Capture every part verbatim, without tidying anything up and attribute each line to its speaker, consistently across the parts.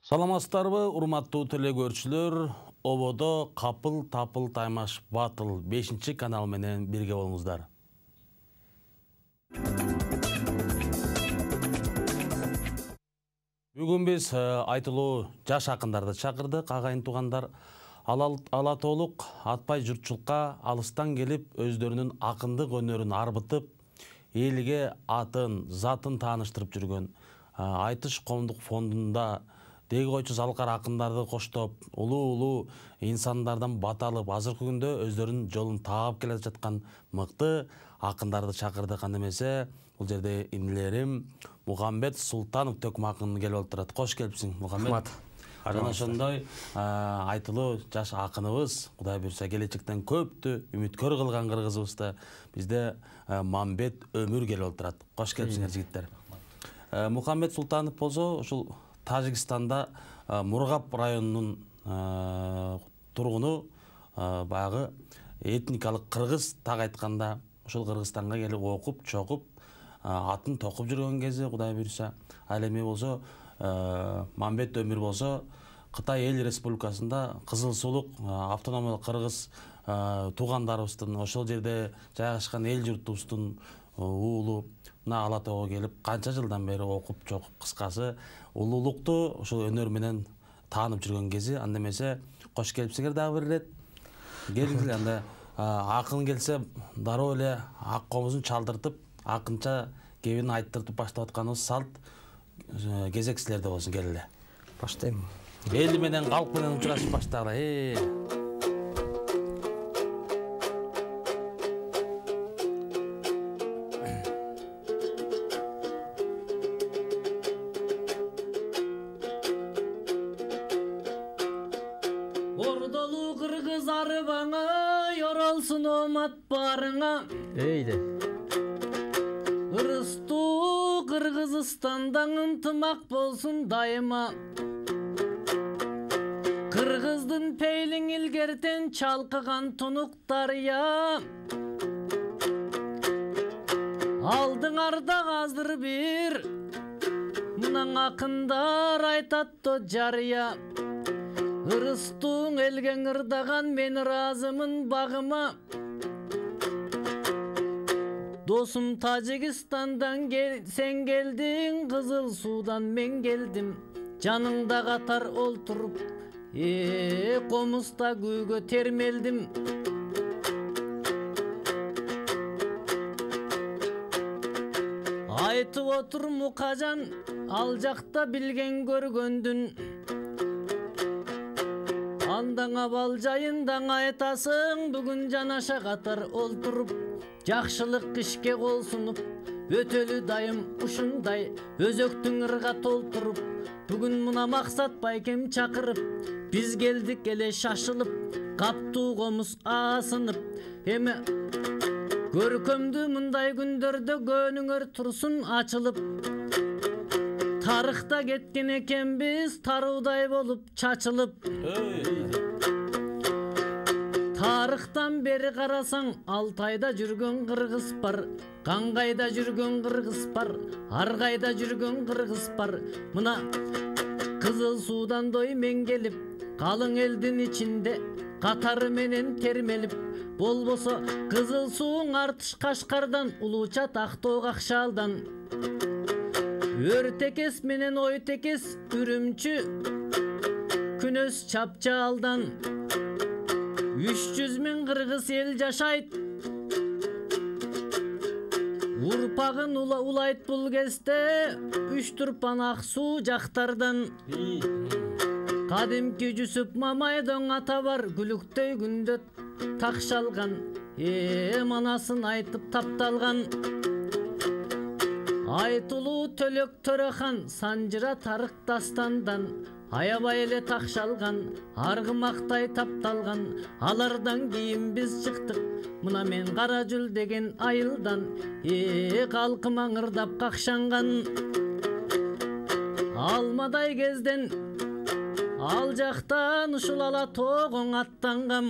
Speaker 1: Саламатсыздарбы, урматтуу телекөрүүчүлөр? Ободо капыл тапыл таймаш батыл бешинчи канал менен бирге болуңуздар. Бүгүн биз айтылуу жаш акындарды чакырдык. Агайын туугандар ала толук атпай журтчулукка алыстан келип, өздөрүнүн акындык өнөрүн арбытып, элге атын, затын тааныштырып жүргөн Айтыш коомдук фондунда деги койчу залкар акындарды коштоп, улуу-улуу инсандардан бат алып, азыркы күндө өздөрүнүн жолун таап келе жаткан мыкты акындарды чакырдык. Анда эмесе, бул жерде инилерим Мухаммед Султанов төкмө акын келип отурат. Кош келипсиң, Мухаммед. Жана ошондой айтылуу жаш акыныбыз, Кудай буйрса келечектен көптү үмүткөр кылган кыргызыбызда бизде Мамбет Өмүр келип отурат. Кош келипсиңер жигиттер. Мухаммед Султанов болсо ушул Тажикстанда Мургап районунун тургуну, баягы этникалык кыргыз, так айтканда ушул Кыргызстанга келип окуп, чогуп, атын токуп жүргөн кези, Кудай буйрса. Ал эми болсо Мамбет Өмүр болсо Кытай Эл Республикасында Кызыл Сулук автономиялык кыргыз туугандарыбыздын ошол жерде жайгашкан эл журтубуздун уулу мына Ала Тоого келип канча жылдан бери окуп, чогуп, кыскасы улуулукту ошол өнөр менен таанып жүргөн кези. Анда эмесе, кош келипсиңер дагы бир ирет. Келиңиздер, анда акын келсе дароо эле ак комузун чалдыртып, акынча кебин айттыртып баштап атканыбыз салт. Кезек силерде болсун, келеле.
Speaker 2: Баштайм.
Speaker 1: Эл менен, калк менен учурашып баштагыла.
Speaker 3: Ордолу кыргыз арбаңа, yorolsun omат барыңа.
Speaker 2: Эйде.
Speaker 3: Ырыстуу Кыргызстандан ынтымак болсун дайыма. Кыргыздын пейлиң илгертен чалкыган тунук дарыя. Алдыңарда азыр бир мынан акындар айтатты жарыя. Ырыстууң элге ырдаган, мен ыраазымын багыма. Досум Тажикстандан сен келдиң, Кызыл Судан мен келдим. Жаныңда катар олтуруп, э комузда күйгө термелдим. Айтып отур Мукажан, ал жакта билген көргөндүн. Андаңа бал жайындаң айтасың, бүгүн жанаша катар олтуруп. Жакшылык ишке кол сунуп, өтөлү дайым ушундай өзөктүң ырга толтуруп. Бүгүн мына максат байкем чакырып, биз келдик эле шашылып, каптуу комуз аасынып. Эми көркөмдүү мындай күндөрдө көнүңөр турсун ачылып. Тарыхта кеткен экенбиз, таруудай болуп чачылып. Тарыхтан бери карасаң, Алтайда жүргөн кыргыз бар, Каңгайда жүргөн кыргыз бар, Аргайда жүргөн кыргыз бар. Мына Кызыл Судан дой мен келип, калың элдин ичинде катары менен термелип. Болбосо Кызыл Сууң Артыш Кашкардан, Улуучат Актоо Акшаалдан. Өртекес менен Ойтекес, Үрүмчү Күнөс Чапчаалдан. Үч жүз миң кыргыз эл жашайт, урпагын улайт бул кезде, Үч турпан ак суу жактардан. Кадимки Жүсүп Мамайдың ата бар, Күлүктөй күндө такшалган, э манасын айтып тапталган. Айтылуу Төлөк Төрахан, Санжыра Тарык дастандан. Аябай эле такшалган, аргымактай тапталган. Алардан кийин биз чыктык, мына мен Кара Жүл деген айылдан. Э калкым аңырдап какшанган. Алмадай кезден ал жактан ушул Ала Тоогоң аттангам.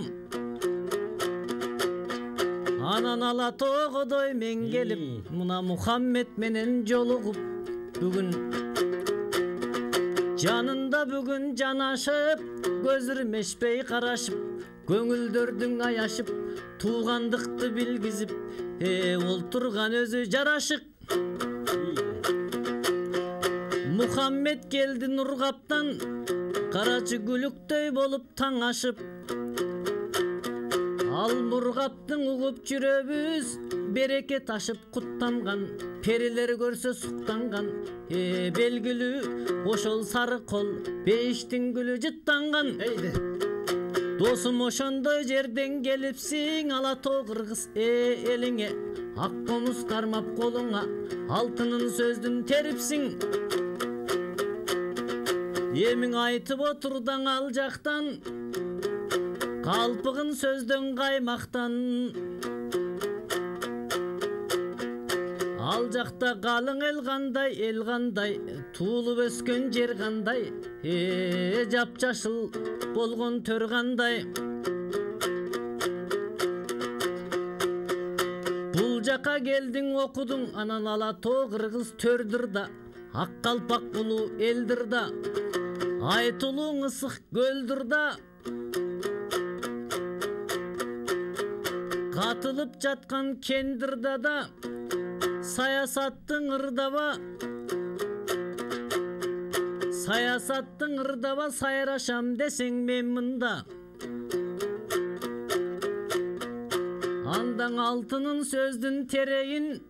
Speaker 3: Анан Ала Тоогодой мен келип, мына Мухаммед менен жолугуп. Бүгүн жанында бүгүн жанашып, көзүрмешпей карашып, көңүлдөрдүң аяшып, туугандыкты билгизип, э олтурган өзү жарашык. Мухаммед келди Нургаптан, карачы гүлүктөй болуп таң ашып. Ал Нургаптың угуп жүрөбүз, береке ташып куттанган, перилер көрсө суктанган, э белгилүү ошол сары кол, бейиштин гүлү жыттанган. Эйди. Досум ошондой жерден келипсиң, ала тоо кыргыз э элиңе, ак комуз кармап колуңа, алтынын сөздүн терипсиң. Эмиң айтып отурдаң ал жактан, калпыгын сөздөн каймактан. Ал жакта калың эл кандай, эл кандай, туулуп өскөн жер кандай, э жапжашыл болгон төр кандай. Бул жака келдиң окудуң, анан ала тоо кыргыз төрдүр да, ак калпак булуу элдир да, айтылууң ысык көлдүр да. Катылып жаткан кендирда да, саясаттың ырдаба, саясаттың ырдаба, сайрашам десең мен мында. Андан алтынын сөздүн терейин,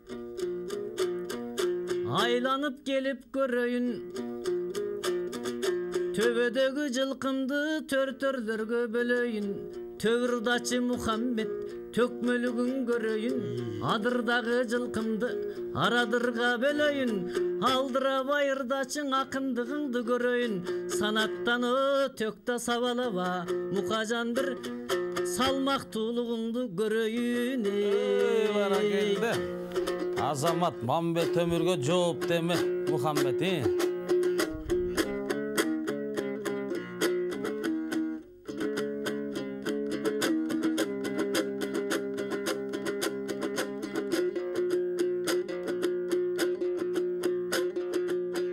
Speaker 3: айланып келип көрөйүн. Төбөдөгү жылкымды төр-төрлөргө бөлөйүн. Төвүрдачы Мухаммед төкмөлүгүн көрөйүн. Адырдагы жылкымды арадырга бөлөйүн. Алдыра байырдачың акындыгыңды көрөйүн. Санаттаны төктө сабалаба, Мукажан бир салмактуулугуңду көрөйүн.
Speaker 1: Эй, баракелде. Азамат Мамбет өмүргө жооп деме, Мухаммед.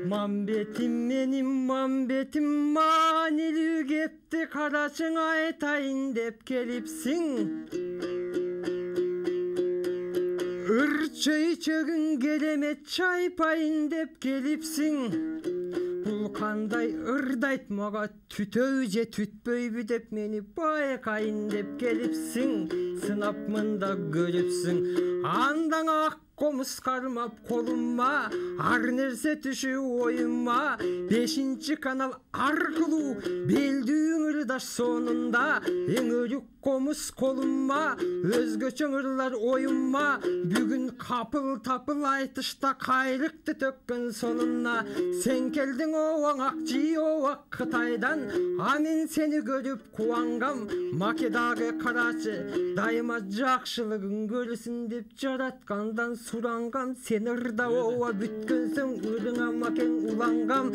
Speaker 2: Мамбетим менин мамбетим, маанилүү кепти карачың айтайын деп келипсиң. Ыр-чөйчөгүң керемет чайпайын деп келипсиң. Бул кандай ырдайт мага, түтөбү же түтпөйбү деп мени байкайын деп келипсиң. Сынап мында көрүпсүң, андан ак комуз кармап колумма, ар нерсе түшү оюмма. Бешинчи канал аркылуу белдүүң ырдаш сонунда, эң өрүк комуз колумма, өзгөчө ырлар оюмма. Бүгүн капыл тапыл айтышта кайрыкты төккөн сонуна. Сен келдиң оң акчи оа Кытайдан, а мен сени көрүп кубангам. Македагы карачы дайыма жакшылыгын көрсүн деп жараткандан сурангам. Сен ырда оа бүткөнсөң, ырыңа макең улангам.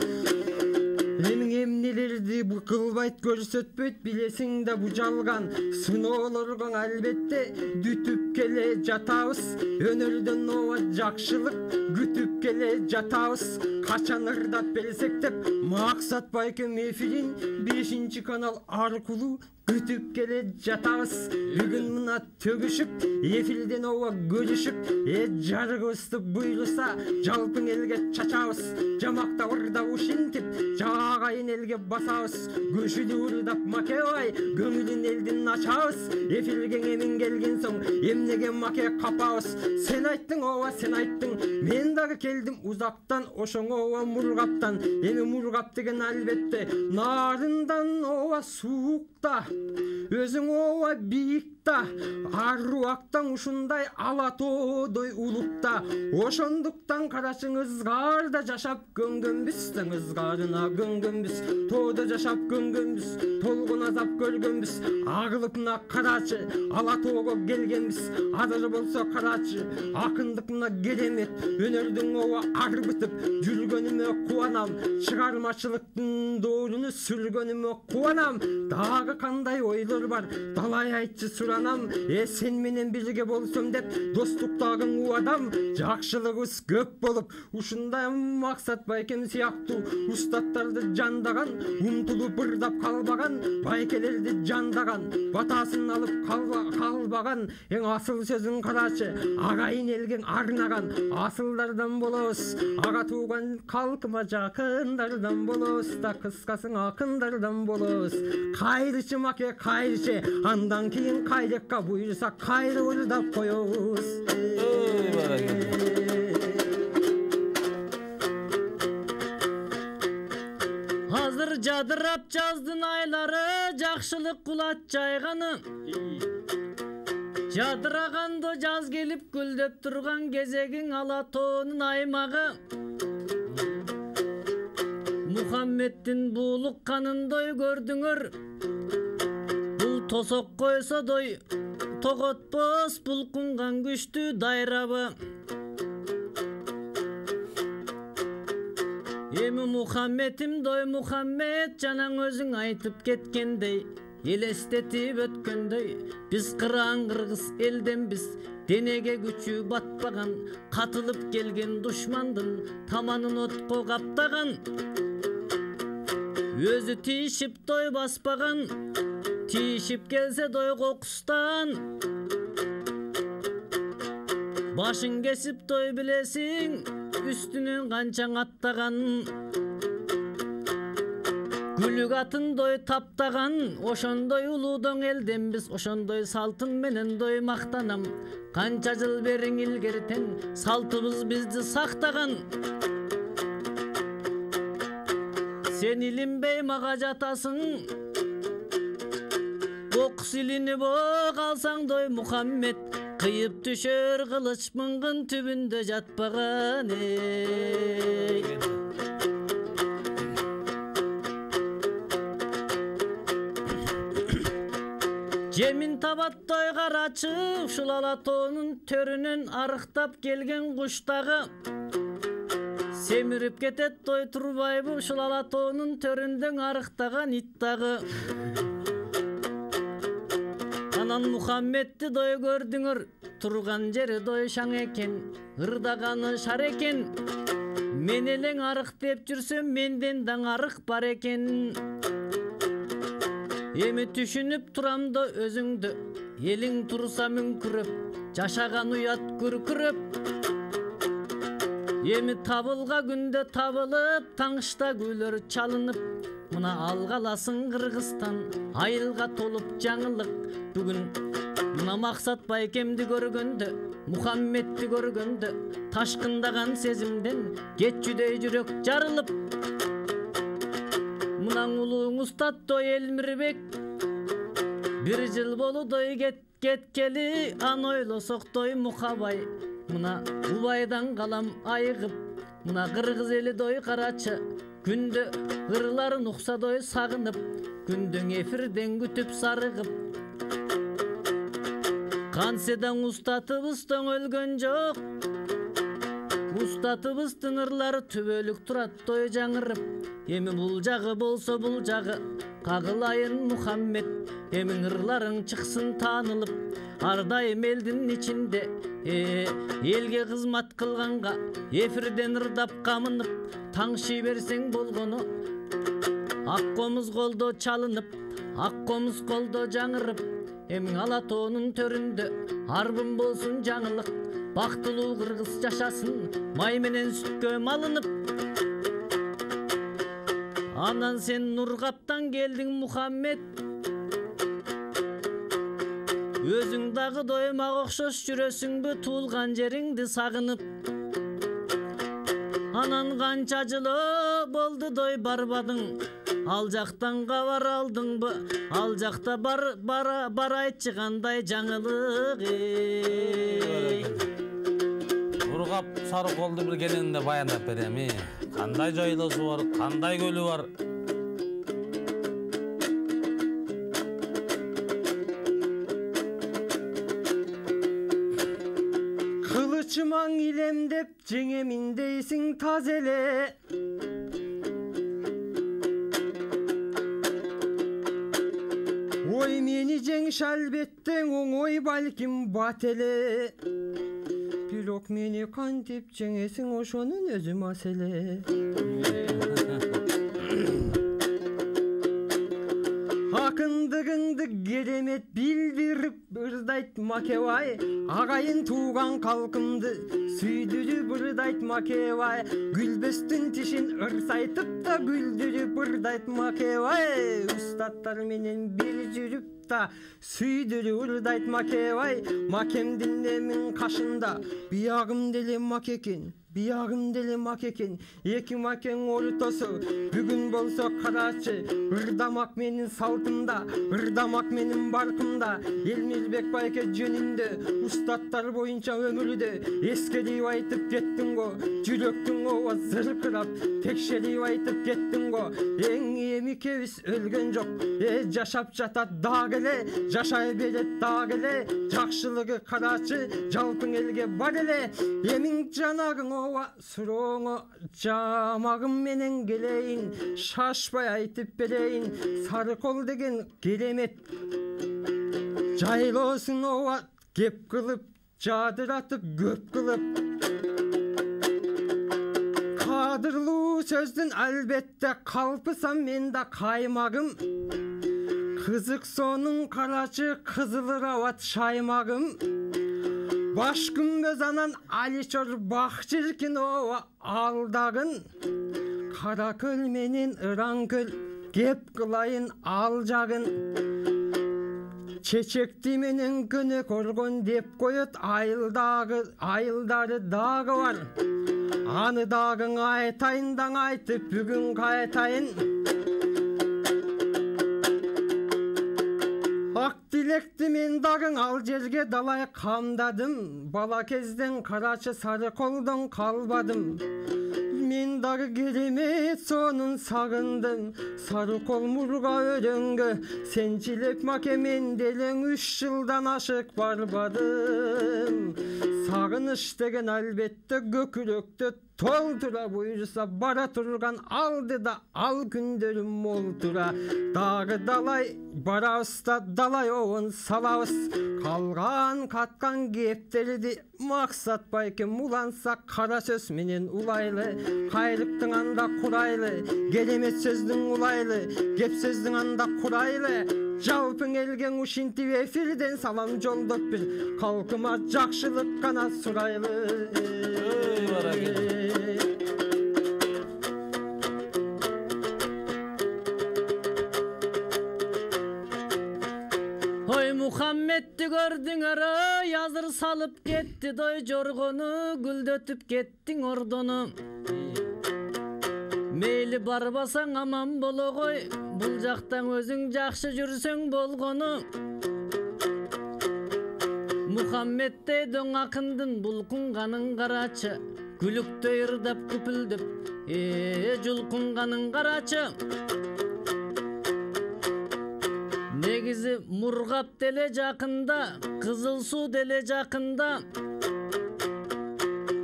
Speaker 2: Эмиң эмнелерди кылбайт, көрсөтпөйт, билесиң да бу жалган. Сыноолорго албетте дүтүп келе жатабыз. Өнөрдөн оа жакшылык күтүп келе жатабыз. Качан ырдап берсек деп, Максат Байкем эфирин бешинчи канал аркылуу күтүп келе жатабыз. Бүгүн мына төгүшүп, эфирден оа көрүшүп, э жарыгыбызды буйруса жалпың элге чачабыз. Жамакта ырдап ушинтип, жагайын элге басабыз. Көшүдү ырдап макебай, көңүлүн элдин ачабыз. Эфирге эмиң келген соң, эмнеге маке капабыз. Сен айттың оа, сен айттың, мен дагы келдим узактан, ошоңо оа Мургаптан. Эми Мургап деген албетте нарындан оа суукта, өзүң оа бийикта, аруактан ушундай ала тоодой улукта. Ошондуктан карачың ызгаарда жашап көнгөнбүз, тең ызгаарына көнгөнбүз. Тоодо жашап көнгөнбүз, толгон азап көргөнбүз. Агылып мына карачы ала тоого келгенбиз. Азыр болсо карачы акындык мына керемет, өнөрдүн оа арбытып жүргөнүмө кубанам. Чыгармачылыктын дооруну сүргөнүмө кубанам. Дагы кандай ойлор бар далай айтчы суранам. Э сен менен бирге болсом деп достуктагың убадам. Жакшылыгыбыз көп болуп ушундай Максат Байкем сыяктуу устаттарды жандаган, умтулуп ырдап калбаган, байкелерди жандаган, батасын алып калбаган. Эң асыл сөзүн карачы, агайын элге арнаган. Асылдардан болобуз, ага тууган калкыма жакындардан болобуз да, кыскасын акындардан болобуз. Кайрычы маке кайрычы, андан кийин кайрекка буйрса кайры ырдап коебуз.
Speaker 3: Азыр жадырап жаздын айлары, жакшылык кулат жайганы. Жадыраганда жаз келип гүлдөп турган кезегиң ала тоонун аймагы. Мухаммеддин буулук канындай көрдүңөр. Бул тосок койсодой тоготпос булкунган күчтүү дайрабы. Эми Мухаммедим дой Мухаммед жанаң өзүң айтып кеткендей, элестетип өткөндөй, биз кыраан кыргыз элденбиз, денеге күчү батпаган, катылып келген душмандын таманын отко каптаган. Өзү тийишип той баспаган, тийишип келсе дой кокустан. Башын кесип той билесиң, үстүнөн канчаң аттаган. Күлүк атын дой таптаган, ошондой улуудон элденбиз, ошондой салтын менен дой мактанам. Канча жыл бериң илгертен, салтыбыз бизди сактаган. Сен илинбей мага жатасың, окус илинип калсаң дой Мухаммед, кыйып түшөр кылыч мыңгын түбүндө жатпаган эй. Жемин табаттой карачы, ушул ала тоонун төрүнөн арыктап келген куштагы. Семирип кетет той турбайбы, ушул ала тоонун төрүндөн арыктаган ит дагы. Анан Мухаммедди дой көрдүңөр, турган жери дой шаң экен, ырдаганы шар экен. Мен элең арык деп жүрсөм, менден даң арык бар экен. Эми түшүнүп турам да өзүңдү, элиң турса мүңкүрөп, жашаган уят күркүрөп. Эми табылга күндө табылып, таңышта күйлөр чалынып, мына алгаласың Кыргызстан, айылга толуп жаңылык. Бүгүн мына Максат Байкемди көргөндө, Мухаммедди көргөндө, ташкындаган сезимден кетчүдөй жүрөк жарылып. Мынан улууң устаттой Элмирбек, бир жыл болудой кеткели, ан ойлосоктой Мухабай. Мына убайдан калам айыгып, мына кыргыз эли дой карачы, күндө ырларын уксадой сагынып, күндүн эфирден күтүп сарыгып. Канседан устатыбыздан өлгөн жок, устатыбыздын ырлары түбөлүк турат той жаңырып. Эми бул жагы болсо бул жагы кагылайын Мухаммед, эми ырларың чыксын таанылып. Ар дайым элдин ичинде элге кызмат кылганга, эфирден ырдап камынып, таңшый берсең болгону. Ак комуз колдо чалынып, ак комуз колдо жаңырып. Эми ала тоонун төрүндө арбын болсун жаңылык. Бактылуу кыргыз жашасын, май менен сүткө малынып. Анан сен Нургаптан келдиң Мухаммед, өзүң дагы дой мага окшош жүрөсүңбү туулган жериңди сагынып. Анан канча жылы болду дой барбадың, ал жактан кабар алдыңбы? Ал жакта бар бара барайчы кандай жаңылык эй.
Speaker 1: Нургап Сарыколду бир келинде баяндап берем. Кандай жайлоосу бар, кандай көлү бар.
Speaker 2: Кылычымаң илемдеп жеңемин дейсиң таз эле. дой мени жеңиш албетте оңой балким бат эле. Бирок мени кантип жеңесиң ошонун өзү маселе. Акындыгыңды керемет билдирип ырдайт Макебай, агайын тууган калкымды сүйдүрүп ырдайт Макебай, гүлбөстүн тишин ырсайтып да күлдүрүп ырдайт Макебай, устаттар менен бир жүрүп да сүйдүрүп ырдайт Макебай, макемдин эмин кашында биягым деле маке экен, биягым деле маке экен, эки макең ортосу бүгүн болсо карачы, ырдамак менин салтымда, ырдамак менин баркымда, Элмирбек байке жөнүндө устаттар боюнча өмүрдө эскерип айтып кеттиң го, жүрөктүң оба зыркырап текшерип айтып кеттиң го, эң эмикебиз өлгөн жок, э жашап жатат дагы эле, жашай берет дагы эле, жакшылыгы карачы жалпың элге бар эле, эмиң жанагың оба сурооңо жамагым менен келейин, шашпай айтып берейин, сары кол деген керемет жайлоосун оба кеп кылып, жадыратып көп кылып. Кадырлуу сөздүн албетте калпысам мен да каймагым, кызык сонун карачы кызылыр абат шаймагым, баш күмбөз анан Аличор бак чиркин оба алдагын, кара көл менен ыран көл кеп кылайын ал жагын, чечекти менен көнө коргон деп коет айылдагы, айылдары дагы бар, аны дагы айтайын даң айтып бүгүн кайтайын. Ак тилекти мен дагы ал жерге далай камдадым, бала кезден карачы сары колдон калбадым, мен дагы керемет сонун сагындым, сары кол мурга өрөнгө, сенчилеп маке мен делең үч жылдан ашык барбадым, сагыныч деген албетте көкүрөктө толтура буйруса бара турган алдыда ал күндөрүм молтура, дагы далай барабыз да далай обон салабыз, калган каткан кептерди максат байкем уланса кара сөз менен улайлы, кайрыктың анда курайлы, керемет сөздүң улайлы, кеп сөздүң анда курайлы, жалпың элге ушинтип эфирден салам жолдоп бир, калкыма жакшылык гана сурайлы.
Speaker 3: Ой Мухаммедти көрдүңөр, азыр салып кетти дой жоргону, гүлдөтүп кеттиң ордону. Мейли барбасаң аман болгой, бул жактан өзүң жакшы жүрсөң болгону. Мухаммеддей дөң акындын булкунганын карачы, күлүктөй ырдап күпүлдөп, э жулкунганын карачы. Негизи Мургап деле жакында, Кызыл суу деле жакында.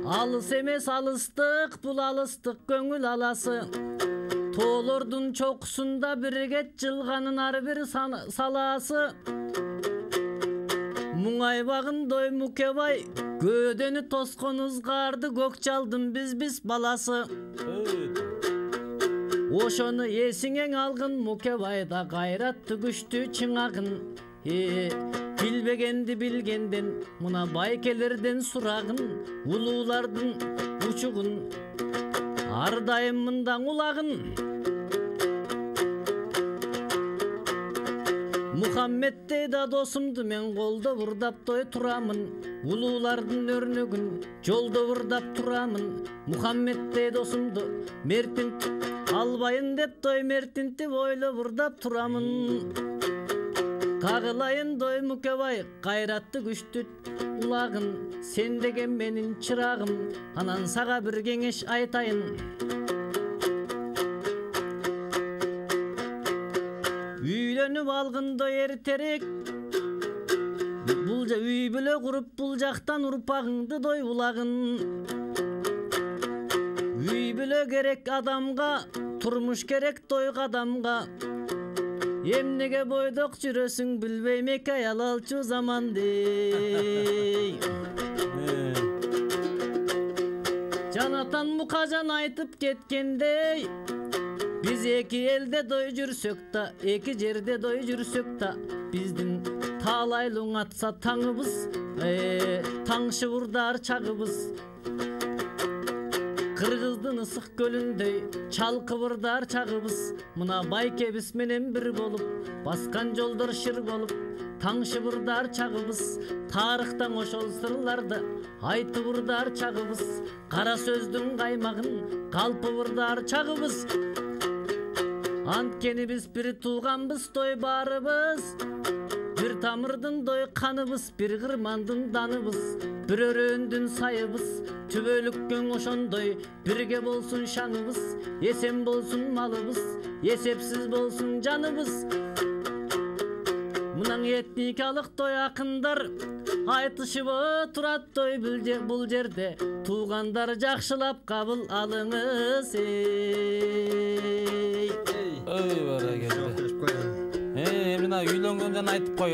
Speaker 3: Алыс эмес алыстык, бул алыстык көңүл аласы. Тоолордун чокусунда биригет жылганын ар бир салаасы. Муңайбагын дой Мукебай, көөдөнү тоскон ызгарды көк жалдын биз биз баласы. Ошону эсиңең алгын Мукебайда кайраттуу күчтүү чыңагын. Э, билбегенди билгенден, мына байкелерден сурагын, улуулардын учугун, ар дайым мындан улагын. Мухаммеддей да досумду мен колдо урдап той турамын, улуулардын өрнөгүн жолдо урдап турамын. Мухаммеддей досумду мертинтип албайын деп той мертинтип ойлоп урдап турамын. Кагылайын дой Мукебай, кайратты күчтүү улагын, сен деген менин чырагым, анан сага бир кеңеш айтайын. Үйлөнүп алгындой эртерээк, бул жа үй бүлө куруп бул жактан урпагыңды дой улагын. Үй бүлө керек адамга, турмуш керек той кадамга. Эмнеге бойдок жүрөсүң билбейм эки аял алчу заманды. Жанатан Мукажан айтып кеткендей, биз эки элде дой жүрсөк да, эки жерде дой жүрсөк да, биздин таалайлуң атса таңыбыз, таңшы бурдар чагыбыз. Кыргыздын ысык көлүндөй чалкыбырдар чагыбыз. Мына байкебиз менен бир болуп, баскан жолдор шыр болуп, таңшы бурдар чагыбыз. Тарыхтан ошол сырларды айтып бурдар чагыбыз. Кара сөздүн каймагын калпы бурдар чагыбыз. Анткени биз бир тууганбыз, той баарыбыз. Бир тамырдын дой каныбыз, бир кырмандын даныбыз. Бир өрөөндүн сайыбыз, түбөлүккөн ошондой бирге болсун шаңыбыз. Эсен болсун малыбыз, эсепсиз болсун жаныбыз. Мынан этникалык той акындар айтышып турат той бул жерде. Туугандар жакшылап кабыл алыңыз. Эй,
Speaker 1: ой баракелде. Эй, мына үйлөнгөндөн айтып кой.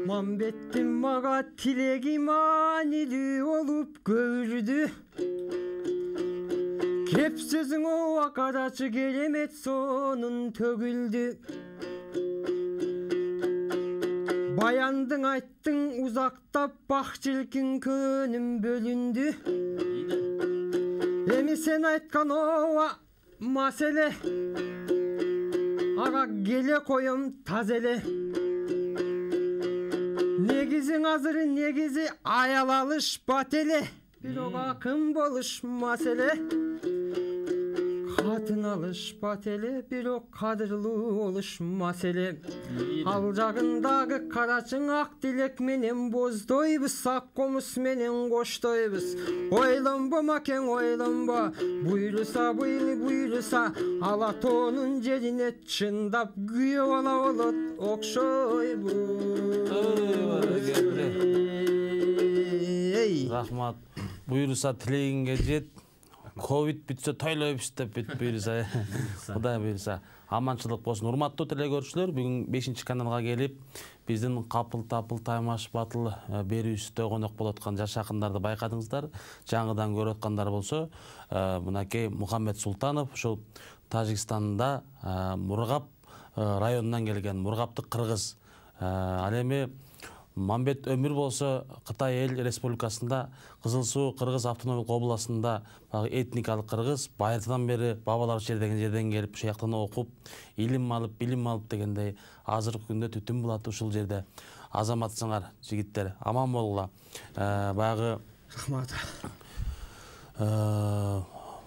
Speaker 2: Мамбеттин мага тилеги маанилүү болуп көрдү. Кеп сөзүң акадачы керемет сонун төгүлдү. Баяндың айттың узактап бак жылкин көнүм бөлүндү. Эми сен айткан ооба маселе, ага келе коем тазеле. Негизиң азыр негизи аял алышпат эле, бирок акын болуш маселе. Катын алышпат эле, бирок кадырлуу болуш маселе. Ал жагындагы карачың ак тилек менен боздойбуз, ак комуз менен коштойбуз. Ойлонбо макең, ойлонбо, буйруса буйру буйруса, ала тоонун жерине чындап күйөө бала болот окшойбуз.
Speaker 1: Рахмат. Буйруса тилегиңге жет. Ковид бүтсө тойлойбуз деп бүт буйруса. Кудай буйруса. Аманчылык болсун. Урматтуу телекөрүүчүлөр, бүгүн бешинчи каналга келип, биздин капыл тапыл таймаш батыл берүүбүздө конок болуп аткан жаш акындарды байкадыңыздар. Жаңыдан көрүп аткандар болсо, мынакей Мухаммед Султанов ушул Тажикстанда Мургап районунан келген, Мургаптык кыргыз. Ал эми Мамбет Өмүр болсо Кытай эл республикасында Кызыл Суу кыргыз автономдук областында этникалык кыргыз байыртадан бери бабалар жердеген жерден келип ушул жактан окуп, илим алып, билим алып дегендей азыркы күндө түтүн булат ушул жерде. Азаматсыңар, жигиттер, аман болгула. Баягы
Speaker 2: рахмат.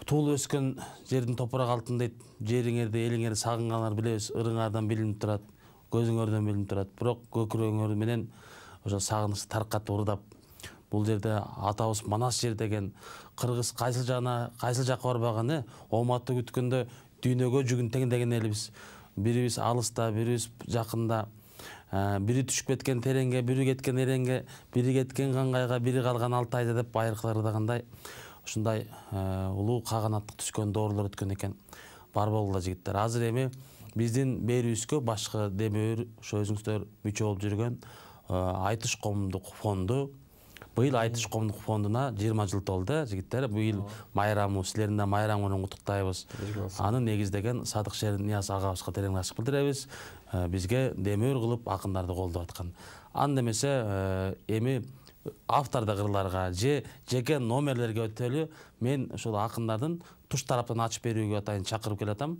Speaker 1: Туулуп өскөн жердин топурак алтын дейт. Жериңерди, элиңерди сагынгандар билебиз, ырыңардан билинип турат, көзүңөрдөн билинип турат. Бирок көкүрөгүңөр менен ошо сагыныч таркатып ырдап, бул жерде атабыз Манас жер деген кыргыз кайсыл жагына, кайсыл жакка барбаган, ооматты күткөндө дүйнөгө жүгүн тең деген элибиз. Бирибиз алыста, бирибиз жакында, бири түшүп кеткен тереңге, бири кеткен эреңге, бири кеткен каңгайга, бири калган алты айда деп байыркылар ырдагандай, ушундай улуу каганаттык түшкөн доорлор өткөн экен. Бар болгула жигиттер. Азыр эми биздин берүүбүзгө башкы демөөр ошо өзүңүздөр мүчө болуп жүргөн Айтыш коомдук фонду. Быйыл Айтыш коомдук фондуна жыйырма жыл толду, жигиттер. Быйыл майрамы, силердин да майрамы менен куттуктайбыз. Аны негиздеген Садык Шернияз агабызга терең ырахмат билдиребиз. Бизге демөөр кылып акындарды колдоп аткан. Анда эмесе эми автордук ырларга же жеке номерлерге өтөлү мен ошол акындардын туш тараптан ачып берүүгө атайын чакырып келатам.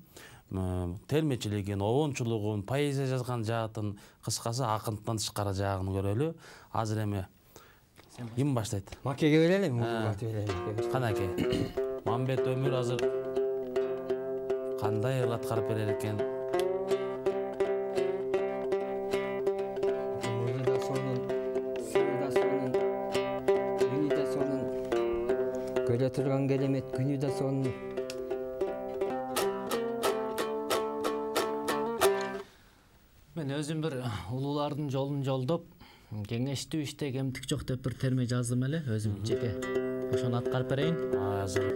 Speaker 1: Термечилигин, обончулугун, поэзия жазган жаатын, кыскасы акындыктан тышкары жагын көрөлү. Азыр эми ким баштайт?
Speaker 2: Макеге берели, мугат берели.
Speaker 1: Канаке. Мамбет Өмүр азыр кандай ыр аткарып берер экен?
Speaker 2: Муну да сонун, суу да сонун, күнү да сонун. Көрө турган керемет күнү да сонун.
Speaker 3: мен өзүм бир улуулардын жолун жолдоп, кеңештүү иште кемтик жок деп бир терме жаздым эле өзүм жеке. Ошону аткарып берейин.
Speaker 1: Азыр.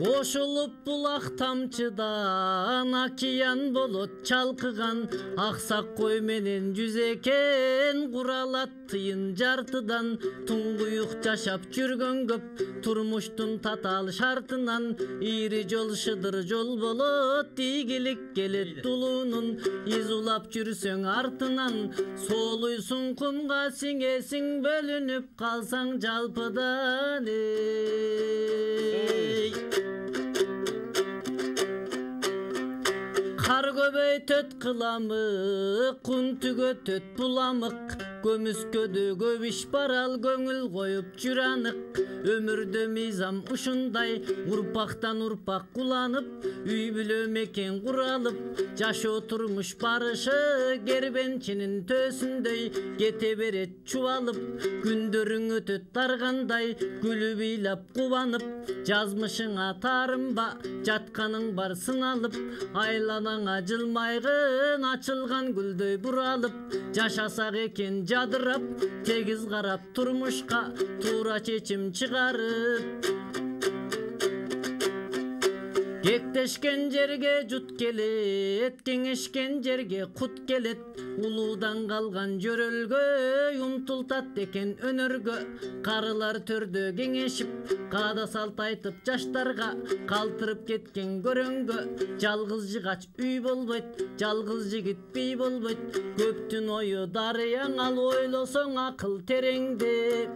Speaker 3: Кошулуп булак тамчыдан океан болот чалкыган, аксак кой менен жүз экен куралат тыйын жартыдан. Туңгуюк жашап жүргөн көп турмуштун татаал шартынан, ири жол шыдыр жол болот, ийгилик келет тулуунун. Из улап жүрсөң артынан, соолуйсуң кумга сиңесиң, бөлүнүп калсаң жалпыдан. Эй кар көбөйтөт кыламык, кун түгөтөт буламык, көмүскөдө көп иш бар, ал көңүл коюп жүр анык. Өмүрдө мыйзам ушундай, урпактан урпак куланып, үй бүлө мекен куралып, жашоо турмуш барышы кербенчинин төсүндөй кете берет чубалып. Күндөрүң өтөт таргандай, күлүп ыйлап кубанып, жазмышыңа таарынба, жатканың бар сыналып, айланаңа жылмайгын ачылган гүлдөй буралып. Жашасак экен жадырап, тегиз карап турмушка, туура чечим чыгарып. Кектешкен жерге жут келет, кеңешкен жерге кут келет. Улуудан калган жөрөлгө умтултат экен өнөргө. Карылар төрдө кеңешип, каада салт айтып жаштарга, калтырып кеткен көрөңгө. Жалгыз жыгач үй болбойт, жалгыз жигит бий болбойт. Көптүн ою дарыяң, ал ойлосоң акыл тереңде.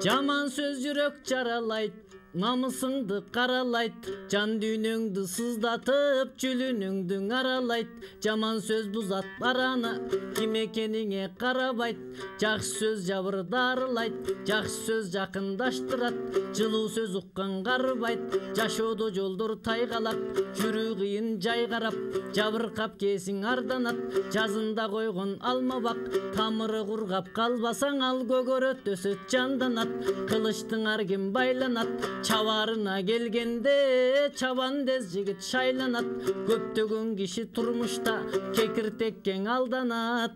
Speaker 3: Жаман сөз жүрөк жаралайт, намысыңды каралайт, жан дүйнөңдү сыздатып, жүлүнүңдү аралайт. Жаман сөз бузат араны, ким экениңе карабайт. Жакшы сөз жабырдарылайт, жакшы сөз жакындаштырат. Жылуу сөз уккан карыбайт, жашоодо жолдор тайгалап, жүрүү кыйын жай карап, жабыркап кесиң арданат. Жазында койгон алма бак, тамыры кургап калбасаң, ал көгөрөт өсөт жанданат. Кылычтың ар ким байланат, чабарына келгенде чабандез жигит шайланат. Көптөгөн киши турмушта кекиртекке алданат.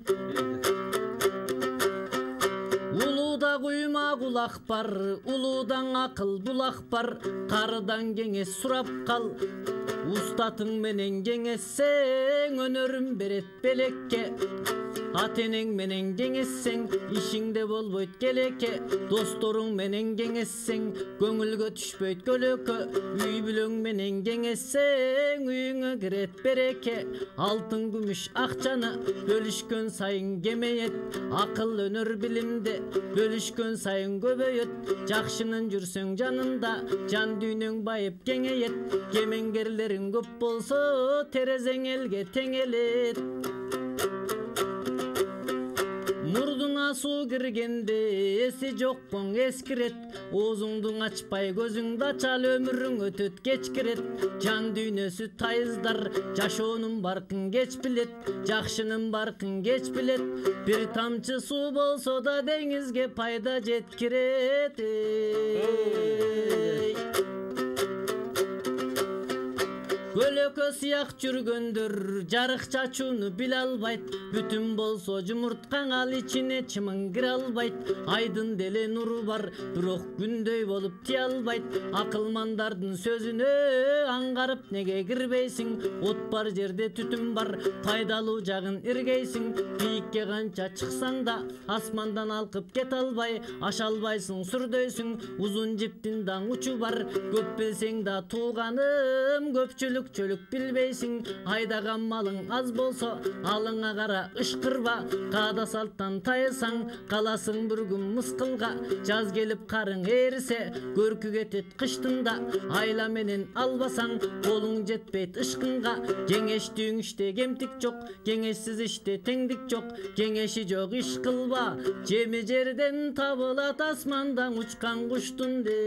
Speaker 3: Улууда куйма кулак бар, улуудан акыл булак бар. Карыдан кеңес сурап кал, устатың менен кеңессең, өнөрүн берет белекке. Ата энең менен кеңессең, ишиңде болбойт келеке. Досторуң менен кеңессең, көңүлгө түшпөйт көлөкө. Үй бүлөң менен кеңессең, үйүңө кирет береке. Алтын күмүш акчаны бөлүшкөн сайын кемейет. Акыл өнөр билимде бөлүшкөн сайын көбөйөт. Жакшынын жүрсөң жанында, жан дүйнөң байып кеңейет. Кемеңгерлериң көп болсо, терезең элге теңелет. Мурдуна суу киргенде эси жоккоң эскирет. Оозуңду ачпай көзүңдү ачал, өмүрүң өтөт кечкирет. Жан дүйнөсү тайыздар, жашоонун баркын кеч билет. Жакшынын баркын кеч билет. Бир тамчы суу болсо да деңизге пайда жеткирет. Көлөкө сыяк жүргөндөр жарык чачууну биле албайт. Бүтүн болсо жумурткаң, ал ичине чымың кире албайт. Айдын деле нуру бар, бирок күндөй болуп тие албайт. Акылмандардын сөзүнө аңгарып неге кирбейсиң? От бар жерде түтүн бар, пайдалуу жагын иргейсиң. Бийикке канча чыксаң да асмандан алкып кете албай, аша албайсың, сүрдөйсүң. Узун жиптин даң учу бар, көп билсең да тууганым, көпчүлүк чөлүк билбейсиң. Айдаган малың аз болсо, алыңа кара ышкырба. Каада салттан тайысаң, каласың бір күн мыскылга. Жаз келип карың ээрисе, көркү кетет кыштында. Айла менен албасаң, колуң жетпейт ышкынга. Кеңештүүң иште кемтик жок, кеңешсиз иште теңдик жок. Кеңеши жок иш кылба, жеми жерден табылат, асмандан учкан куштун де.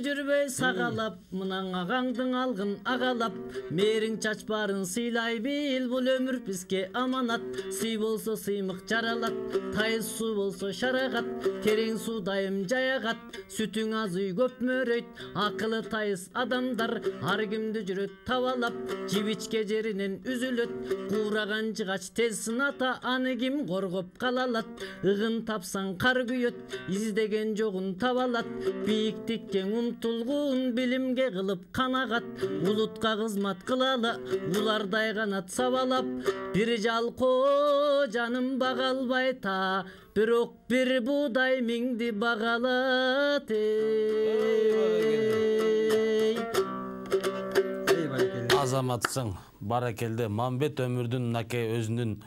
Speaker 3: жүрбөй сагалап, мынан агаңдын алгын агалап, мериң чачпарын сыйлай бил, бул өмүр бизге аманат. Сый болсо сыймык жаралат, тайыз суу болсо шарагат, терең суу дайым жаягат, сүтүң аз үй көп мөрөйт, акылы тайыз адамдар ар кимди жүрөт табалап, жибичке жеринен үзүлөт, куураган жыгач тез сыната, аны ким коргоп калалат, ыгын тапсаң кар күйөт, издеген жогун табалат, бийиктикке умтулгун билимге кылып канагат, улутка кызмат кылалы, улардай канат сабалап, бир жалко жаным бага албайт та, бирок бир буудай миңди багалат.
Speaker 1: Азаматсың, баракелде. Мамбет өмүрдүн мынакей өзүнүн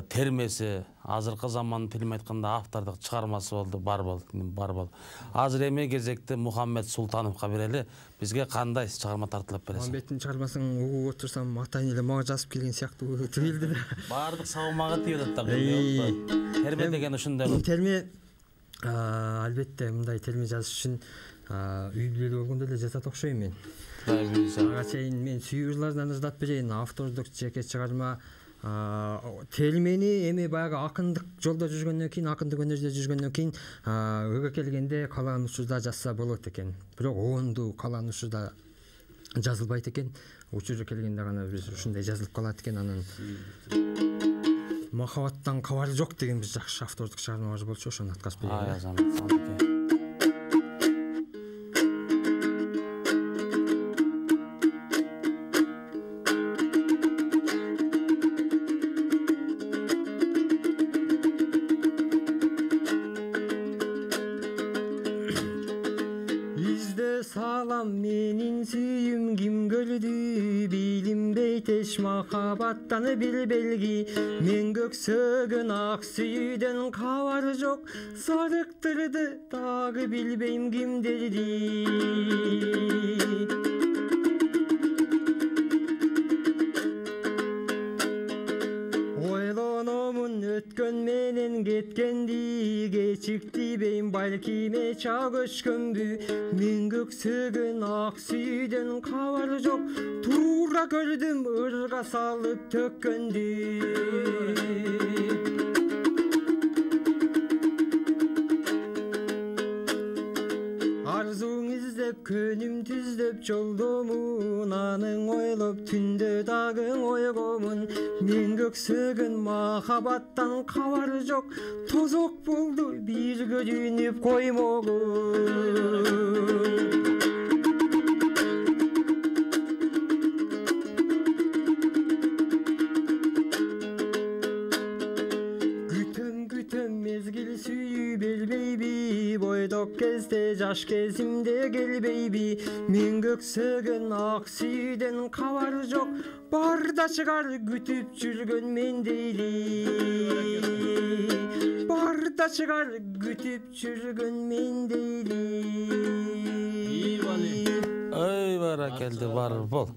Speaker 1: термеси, азыркы замандын тилин айтканда автордук чыгармасы болду, бар болду, бар болду. Азыр эми кезекти Мухаммед Султановго берели. Бизге кандай чыгарма тартылып бересиң?
Speaker 2: Мамбеттин чыгармасын угуп отурсам, атайын эле мага жазып келген сыяктуу түйүлдү да.
Speaker 1: Баардык сабамага тийет да. Терме деген ушундай.
Speaker 2: Терме албетте мындай терме жазыш үчүн үй бүлөлүү болгондо эле жазат окшойм мен. Ага чейин мен сүйүүрлөрдөн ырдап берейин. Автордук жеке чыгарма термени эми баягы акындык жолдо жүргөндөн кийин, акындык өнөрдө жүргөндөн кийин өйгө келгенде каалаган учурда жазса болот экен. Бирок оонду каалаган учурда жазылбайт экен. Учуру келгенде гана биз ушундай жазылып калат экен. Анан махабаттан кабары жок деген биз жакшы автордук чыгармабыз болчу, ошону аткарып берейин. Менин сүйүм ким көрдү, билинбейт эч махабаттаны бир белги. Мен көксөгөн ак сүйүүдөн кабары жок, зарыктырды дагы билбейм кимдерди. Ойлономун өткөн менен кеткенди, кечикти бейм балким эча көчкөнбү. Мен көксөгөн ак сүйүүдөн кабары жок, туура көрдүм ырга салып төккөндү. Арзуң издеп көнүм түздөп жолдомун, аның ойлоп түндө дагы ойгомун. Мен көксөгөн махабаттан кабары жок, тозок болду бир көрүнүп коймогун. Мезгил сүйүү бербейби, бойдок кезде жаш кезимде келбейби. Мен көксөгөн ак сүйүүдөн кабары жок, барда чыгар күтүп жүргөн мен дейли. Барда чыгар күтүп жүргөн мен дейли.
Speaker 1: Ой, баракелде, бар бол.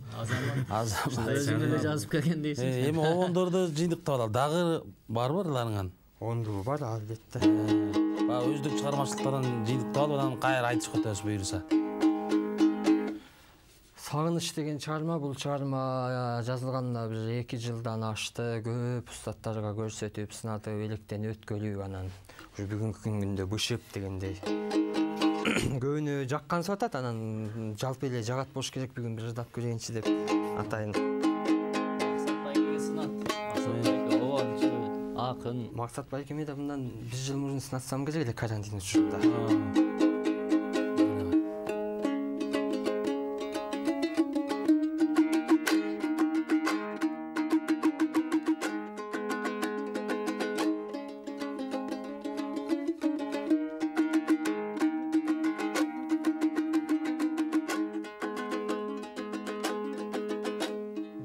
Speaker 3: Азамат өзүң эле жазып келген дейсиң.
Speaker 1: Эми обондорду жыйынтыктап алалы. Дагы барбы ырларыңан?
Speaker 2: Онду бар албетте.
Speaker 1: Ба өздүк чыгармачылыктардан жыйынтыктап алып, анан кайра айтышып өтөбүз буюрса.
Speaker 2: Сагыныч деген чыгарма, бул чыгарма жазылганына бир эки жылдан ашты. Көп устаттарга көрсөтүп, сынатып, электен өткөлүп, анан ушу бүгүнкү күндө бышып дегендей. Көбүнө жаккансып атат, анан жалпы эле жагат болуш керек, бүгүн бир ырдап көрөйүнчү деп атайын.
Speaker 3: Акын
Speaker 2: Максат Байкеме да мындан бир жыл мурун сынатсам керек эле карантин учурунда.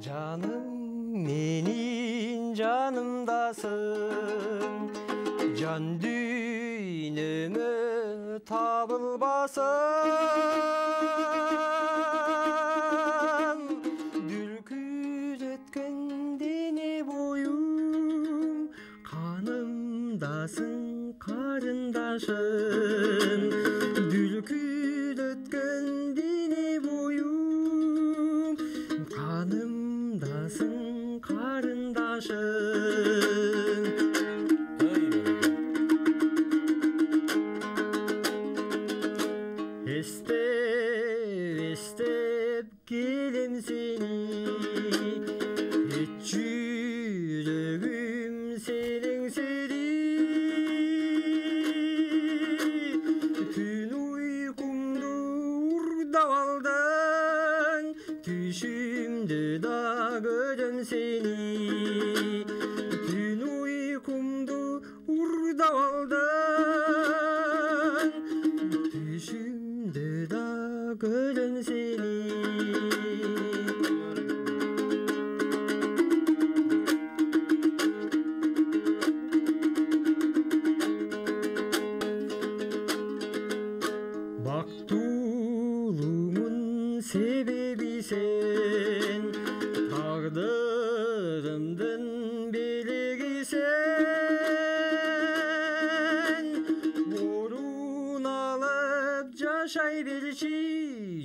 Speaker 2: Жаным менин жанымдасың, жан дүйнөмө табылбасың. Дүркүрөткөн дене боюм, канымдасың карындашым. Дүркүрөткөн акындасың карындашың. Эстеп, эстеп келем сени, эч жүрөгүм сенең сери. Түн уйкумду урдап алдың, түшүмдө да көрөм сени. Түн уйкумду урдап алдың, түшүмдө да көрөм сени. Бактуулумун себеби сен, тагдырымдын белеги сен. Орун алып жашай берчи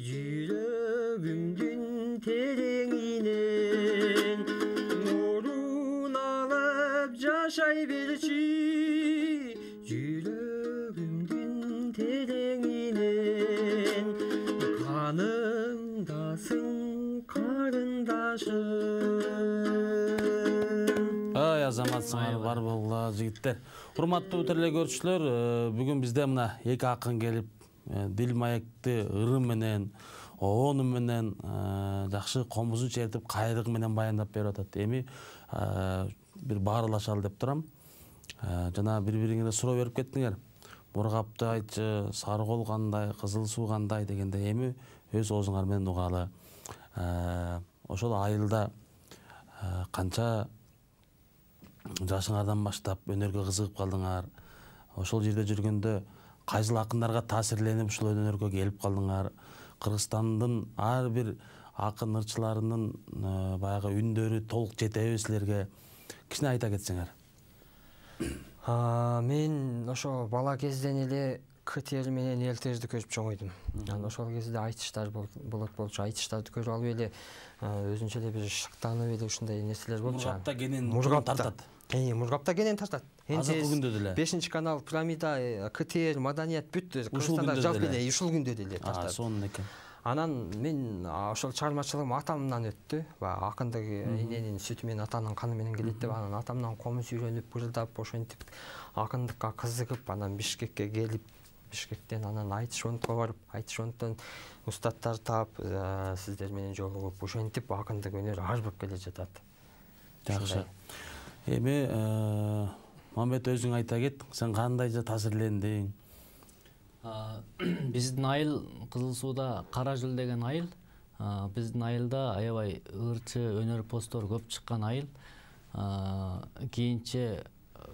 Speaker 2: жүрөгүмдүн тереңинен. Орун алып жашай берчи жүрөгүмдүн тереңинен. Канымдасың карындашың.
Speaker 1: Ай азаматсыңар бар болгула жигиттер. Урматтуу теле көрүүчүлөр, бүгүн бизде мына эки акын келип, дил маекти ырым менен, оонум менен жакшы комузун чертип, кайрыгы менен баяндап берип атат. Эми бир баарлашалы деп турам. Жана бири-бириңерге суроо берип кеттиңер. Мургапты айтчы, сары кол кандай, кызыл суу кандай дегенде эми өз оозуңар менен угалы. Ошол айылда канча жашыңардан баштап өнөргө кызыгып калдыңар? Ошол жерде жүргөндө кайсыл акындарга таасирленип ушул өнөргө келип калдыңар? Кыргызстандын ар бир акын ырчыларынын баягы үндөрү толук жетеби силерге? Кичине айта кетсеңер.
Speaker 2: Мен ошо бала кезден эле КТР менен элтерди көрүп чоңойдум. Анан ошол кезде айтыштар болот болчу. Айтыштарды көрүп алып эле өзүнчө эле бир шыктанып эле ушундай нерселер болчу.
Speaker 1: Мургапта кенен
Speaker 2: тартат. Э, Мургапта кенен тартат.
Speaker 1: Азыркы күндө деле.
Speaker 2: бешинчи канал, Пирамида, КТР, Маданият бүт Кыргызстанда жалпы эле ушул күндө деле тартат.
Speaker 1: Сонун экен.
Speaker 2: Анан мен ошол чыгармачылыгым атамдан өттү. Баягы акындык эненин сүтү менен атанын каны менен келет деп, анан атамдан комуз үйрөнүп, бырылдап, ошентип акындыкка кызыгып, анан Бишкекке келип, Бишкектен анан айтыш фондко барып, айтыш фонддон устаттар таап, сиздер менен жолугуп, ошентип акындык өнөр арбып келе жатат.
Speaker 1: Жакшы. Эми Мамбет өзүң айта кет, сен кандай таасирлендиң?
Speaker 3: Биздин айыл Кызыл сууда Кара Жыл деген айыл. Биздин айылда аябай ырчы өнөрпоздор көп чыккан айыл. Кийинче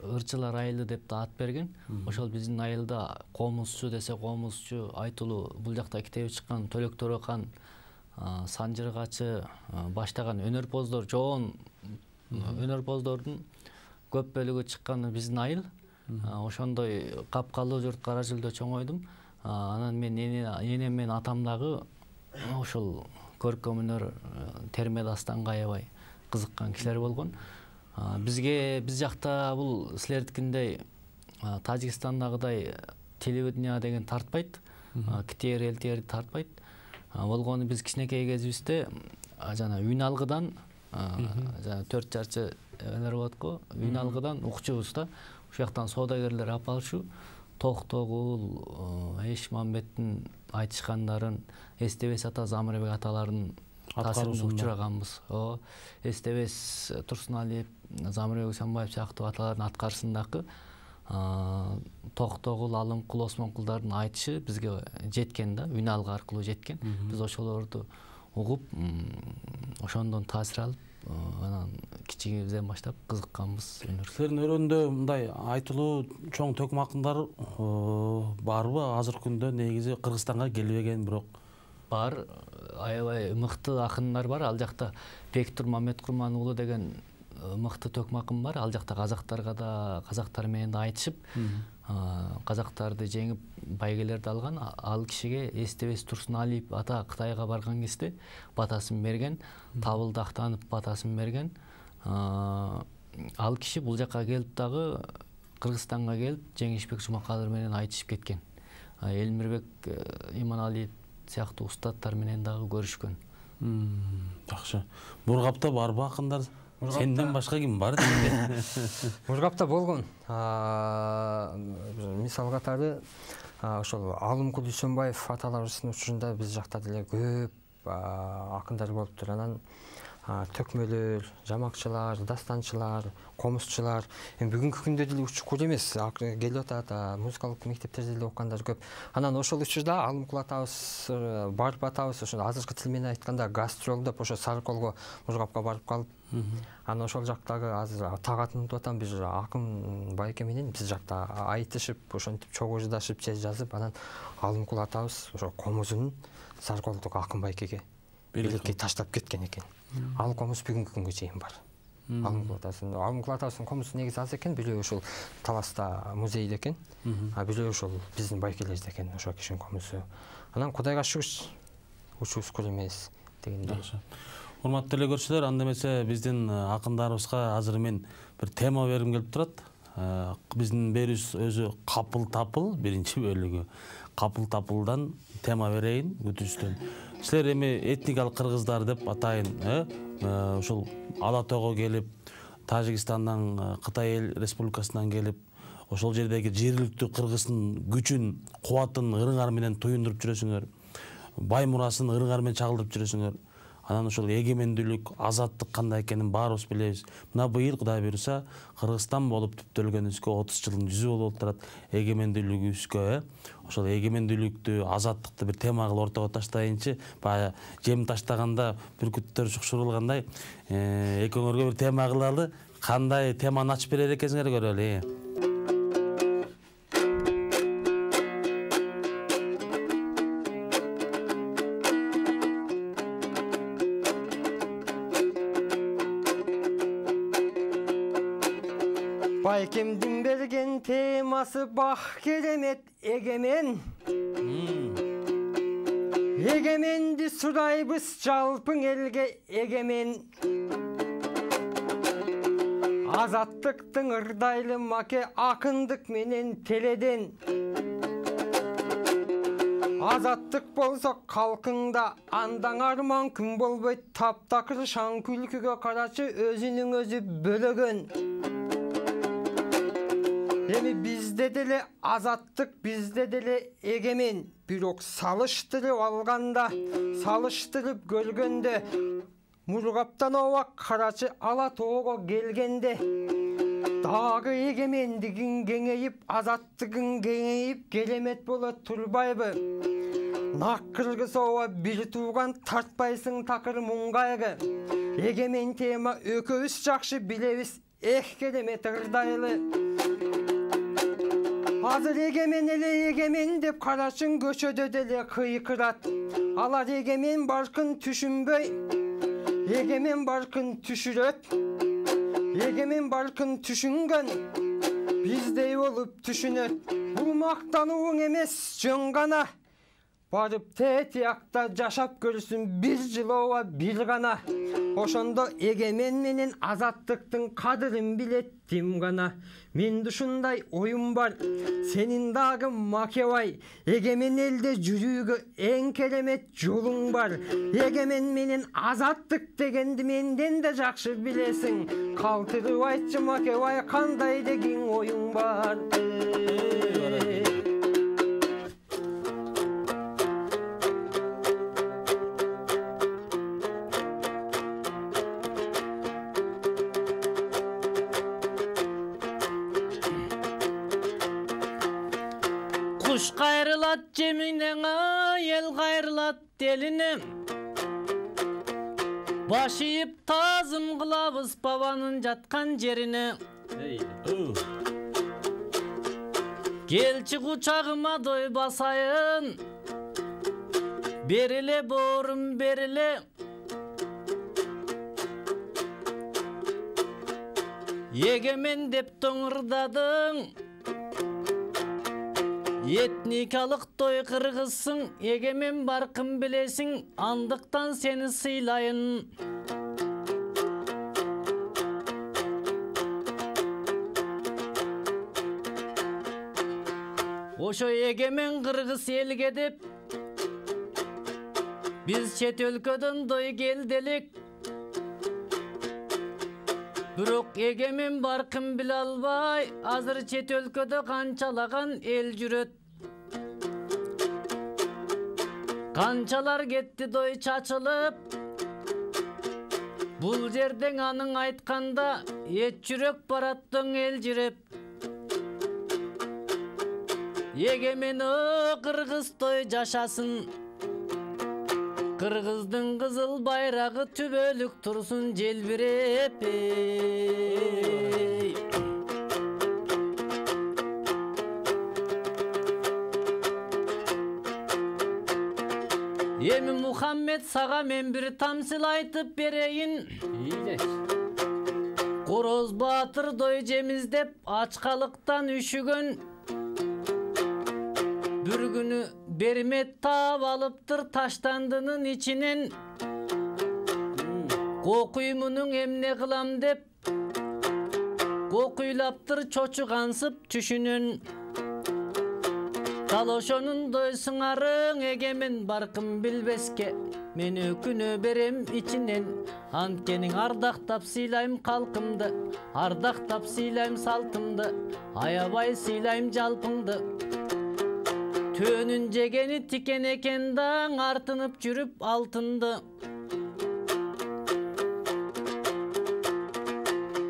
Speaker 3: ырчылар айылы деп да ат берген. Ошол биздин айылда комузчу десе комузчу, айтылуу бул жакта китеби чыккан Төлөк Төрөкан, Санжыргачы баштаган өнөрпоздор, жоон өнөрпоздордун көп бөлүгү чыкканы биздин айыл. Ошондой капкалуу журт Кара Жылда чоңойдум. Анан мен энем менен атам дагы ошол көркөм өнөр, терме дастанга аябай кызыккан кишилер болгон. Бизге биз жакта бул силердикиндей Тажикстандагыдай телевидение деген тартпайт. КТР, ЛТР тартпайт. Болгону биз кичинекей кезибизде жана үн алгыдан, жана төрт жарчы элер болот го, үн алгыдан укчубуз да. Ушул жактан соодагерлер алып алышу, Токтогул, Эш Мамбеттин айтышкандарын, Эстебес ата, Замырбек аталардын таасирине учураганбыз. Эстебес Турсуналиев, Замырбек Усанбаев сыяктуу аталардын аткарысындагы Токтогул, Алымкул, Осмонкулдардын айтышы бизге жеткен да, үн алгы аркылуу жеткен. Биз ошолорду угуп, ошондон таасир алып, анан кичигибизден баштап кызыкканбыз өнөргө.
Speaker 1: Силердин өрөөндө мындай айтылуу чоң төкүм акындар барбы? Азыркы күндө негизи Кыргызстанга келбеген, бирок
Speaker 3: бар, аябай мыкты акындар бар. Ал жакта Бектур Маметкурман уулу деген мыкты төкмакым бар. Ал жакта казактарга да, казактар менен да айтышып, казактарды жеңип байгелерди алган. Ал кишиге Эстебес Турсуналиев ата Кытайга барган кезде батасын берген, табылды актанып батасын берген. Ал киши бул жакка келип дагы Кыргызстанга келип Жеңишбек Жумакадыр менен айтышып кеткен. Элмирбек Иманалиев сыяктуу устаттар менен дагы көрүшкөн.
Speaker 1: Жакшы. Мургапта барбы акындар? Сенден башка ким бар?
Speaker 2: Мургапта болгон. Мисал катары ошол Алымкул Дүйсөнбаев аталарыбыздын учурунда биз жакта деле көп акындар болуптур. Анан төкмөлөр, жамакчылар, дастанчылар, комузчулар. Эми бүгүнкү күндө деле учкур эмес, келип атат, музыкалык мектептерде деле окугандар көп. Анан ошол учурда Алымкул атабыз барып атабыз, ошо азыркы тил менен айтканда гастролдоп ошо Сарыколго, Мургапка барып калып, анан ошол жактагы азыр так атын атам биз акын байке менен биз жакта айтышып, ошентип чогуу жыдашып, же жазып, анан Алымкул атабыз ошо комузун Сарыколдук акын байкеге белекке таштап кеткен экен. Ал комуз бүгүнкү күнгө чейин бар. Алымкул атабыздын, Алымкул атабыздын комузу негизи аз экен, бирөө ошол Таласта музейде экен, а бирөө ошол биздин байкелерде экен ошол кишинин комузу. Анан Кудайга шүгүр, учубуз кур эмес дегендей.
Speaker 1: Урматтуу эле көрүүчүлөр, анда эмесе биздин акындарыбызга азыр мен бир тема бергим келип турат. Биздин берүүбүз өзү капыл тапыл, биринчи бөлүгү. Капыл тапылдан тема берейин күтүүчүдөн. Силер эми этникалык кыргыздар деп атайын, ошол Ала тоого келип, Тажикстандан, Кытай эл республикасынан келип, ошол жердеги жергиликтүү кыргыздын күчүн, кубатын ырыңар менен туюндуруп жүрөсүңөр, бай мурасын ырыңар менен чагылдырып жүрөсүңөр. Анан ошол эгемендүүлүк, азаттык кандай экенин баарыбыз билебиз. Мына быйыл Кудай буйруса Кыргызстан болуп түптөлгөнүбүзгө отуз жылдын жүзү болуп турат, эгемендүүлүгүбүзгө, ошол эгемендүүлүктү, азаттыкты бир тема кылып ортого таштайынчы. Баягы жем таштаганда бүркүттөр шукшурулгандай, экөөңөргө бир тема кылалы. Кандай теманы ачып берер экенсиңер көрөлү.
Speaker 2: Байкемдин берген темасы бах керемет эгемен. Эгеменди сурайбыз жалпың элге эгемен. Азаттыктын ырдайлы маке акындык менен теледен. Азаттык болсо калкыңда андан арман күн болбойт. Таптакыр шаң күлкүгө карачы өзүнүн өзү бөлөгөн. Эми бизде деле азаттык, бизде деле эгемен. Бирок салыштырып алганда, салыштырып көргөндө, Мургаптан оба карачы Ала тоого келгенде, дагы эгемендигиң кеңейип, азаттыгың кеңейип, керемет боло турбайбы? Нак кыргыз оба бир тууган, тартпайсың такыр муңгайгы. Эгемен тема экөөбүз жакшы билебиз, эх керемет ырдайлы. Азыр эгемен эле эгемен деп карачың көчөдө деле кыйкырат. Алар эгемен баркын түшүнбөй, эгемен баркын түшүрөт. Эгемен баркын түшүнгөн, биздей болуп түшүнөт. Бул мактанууң эмес, жөн гана. Барып тетиякта жашап көрсүн бир жыл оба бир гана. Ошондо эгемен менен азаттыктын кадырын билет тим гана. Менде ушундай оюм бар, сенин дагы макебай. Эгемен элде жүрүүгө эң керемет жолуң бар. Эгемен менен азаттык дегенди менден да жакшы билесиң. Калтырып айтчы макебай, кандай деген оюң бар.
Speaker 3: Куш кайрылат жеминен, эл кайрылат делине. Баш ийип тазым кылабыз бабанын жаткан жерине. Келчи кучагыма дой басайын, бериле боорум бериле. Егемен деп тоңырдадың, этникалык той кыргызсың, егемен баркын билесиң, андыктан сени сыйлайын. Ошо егемен кыргыз элге деп биз чет өлкөдөн дой келделик. Бирок егемен баркын биле албай, азыр чет өлкөдө канчалаган эл жүрөт. Канчалар кетти дой чачылып, бул жерден аның айтканда эт жүрөк бараттың эл жиреп. Егемен кыргыз той жашасын, кыргыздын кызыл байрагы түбөлүк турсун желбиреп. Эми Мухаммед сага мен бир тамсыл айтып берейин. Короз баатыр дой жемиз деп ачкалыктан үшүгөн. Бір күні бермет таап алыптыр таштандынын ичинен. Кокуймунун эмне кылам деп кокуйлаптыр чочугансып түшүнөн. Дал ошонун дойсуңарың егемен баркын билбеске, мен өкүнө берем ичинен. Анткени ардактап сыйлайм калкымды, ардактап сыйлайм салтымды, аябай сыйлайм жалпыңды. Төнүн жегени тикен экен даң, артынып жүрүп алтынды.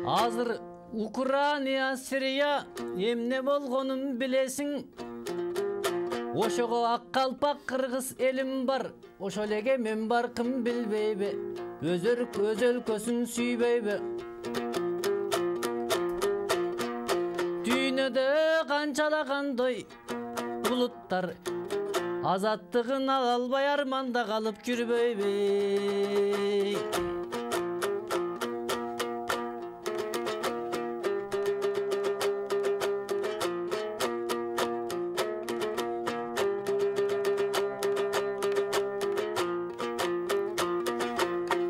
Speaker 3: Азыр Украина, Сирия эмне болгонун билесиң. Ошого ак калпак кыргыз элим бар, ошол эге мен баркын билбейби, өз өлкөсүн сүйбөйбү. Дүйнөдө канчалаган дой булуттар, азаттыгын ала албай арманда калып жүрбөйбү.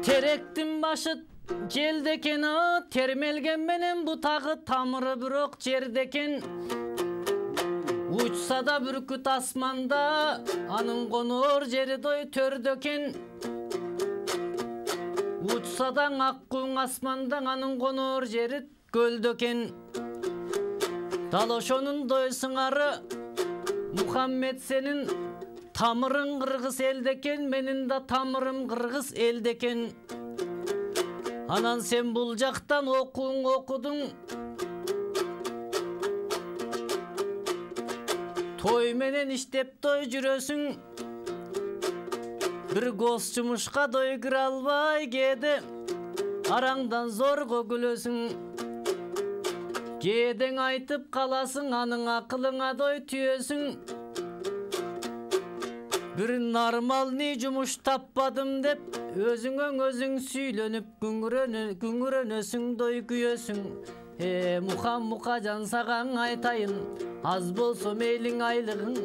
Speaker 3: Теректин башы желдекен, термелген менен бутагы тамыры бирок жердекен. Учса да бүркүт асманда, анын конор жери дой төрдөкен. Учса да аккуң асманда, анын конор жери көлдөкен. Дал ошонун дойсуңары Мухаммед сенин тамырың кыргыз элдекен, менин да тамырым кыргыз элдекен. Анан сен бул жактан окууң окудуң, той менен иштеп той жүрөсүң. Бир гоз жумушка дой кире албай кээде араңдан зорго күлөсүң. Кээдең айтып каласың, аның акылыңа дой түйөсүң. Бир нормальный жумуш таппадым деп өзүңөн өзүң сүйлөнүп күңүрөнөсүң, дой күйөсүң. Э, муха мукажан сагаң айтайын, аз болсо мейлиң айлыгың,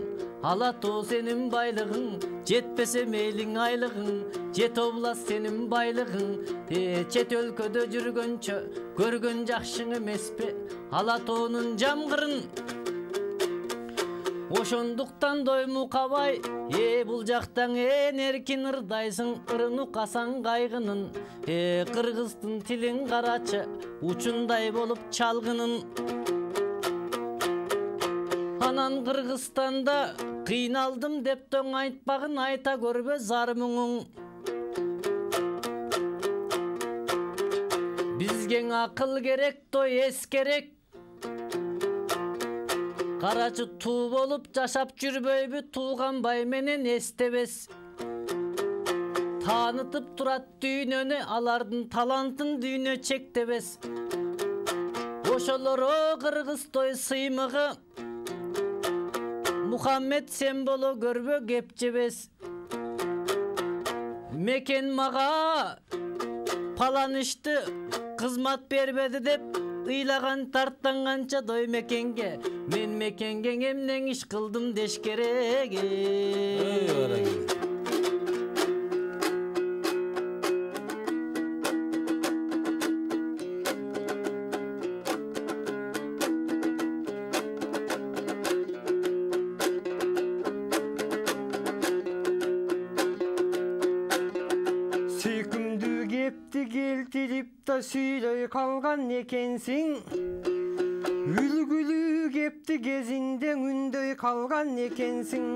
Speaker 3: ала тоо сенин байлыгың, жетпесе мейлиң айлыгың, жет облас сенин байлыгың. Э, чет өлкөдө жүргөнчө көргөн жакшың эмеспи, ала тоонун жамгырын. Ошондуктан дой мукабай, э, бул жактан эн эркин ырдайсың, ырын укасаң кайгынын. Э, кыргыздын тилин карачы, учундай болуп чалгынын. Анан Кыргызстанда кыйналдым деп тоң айтпагын айта көрбө зар мұңың. Бизге акыл керек, той эс керек. Карачы туу болуп жашап жүрбөйбү, тууган бай менен эстебес. Таанытып турат дүйнөнү, алардын талантын дүйнө чектебес. Ошолоро кыргыз той сыймыгы, Мухаммед сен боло көрбө кеп жебес. Мекен мага паланышты кызмат бербеди деп ыйлаган тарттанганча дой мекенге, мен мекенге эмнең иш кылдым деш керек.
Speaker 2: Сүйкүмдүү кепти келтирип да сүйлөй калган экенсиң, үлгүлүү кепти кезинде үндөй калган экенсиң.